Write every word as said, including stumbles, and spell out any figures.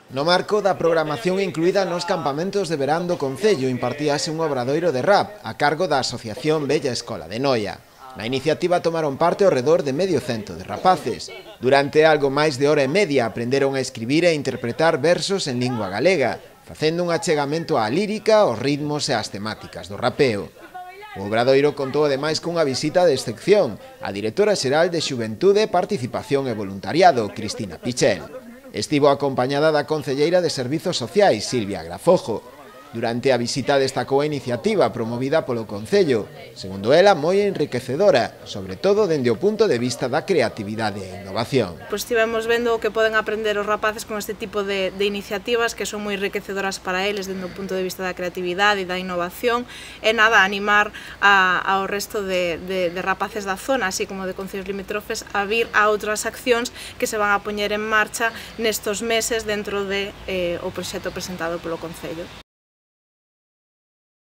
No marco da programación incluída nos campamentos de verán do Concello impartíase un obradoiro de rap a cargo da Asociación Bella Escola de Noia. Na iniciativa tomaron parte ao redor de medio cento de rapaces. Durante algo máis de hora e media aprenderon a escribir e interpretar versos en lingua galega, facendo un achegamento á lírica, aos ritmos e ás temáticas do rapeo. O obradoiro contou ademais cunha visita de excepción a directora xeral de Xuventude, Participación e Voluntariado, Cristina Pichel. Estivo acompañada da concelleira de Servizos Sociais, Silvia Grafojo. Durante a visita destacou a iniciativa promovida polo Concello, segundo ela moi enriquecedora, sobre todo dende o punto de vista da creatividade e innovación. Pois estivemos vendo o que poden aprender os rapaces con este tipo de, de iniciativas que son moi enriquecedoras para eles dende o punto de vista da creatividade e da innovación, e nada, animar a, ao resto de, de, de rapaces da zona, así como de concellos limítrofes, a vir a outras accións que se van a poñer en marcha nestos meses dentro de, eh, o proxecto presentado polo Concello.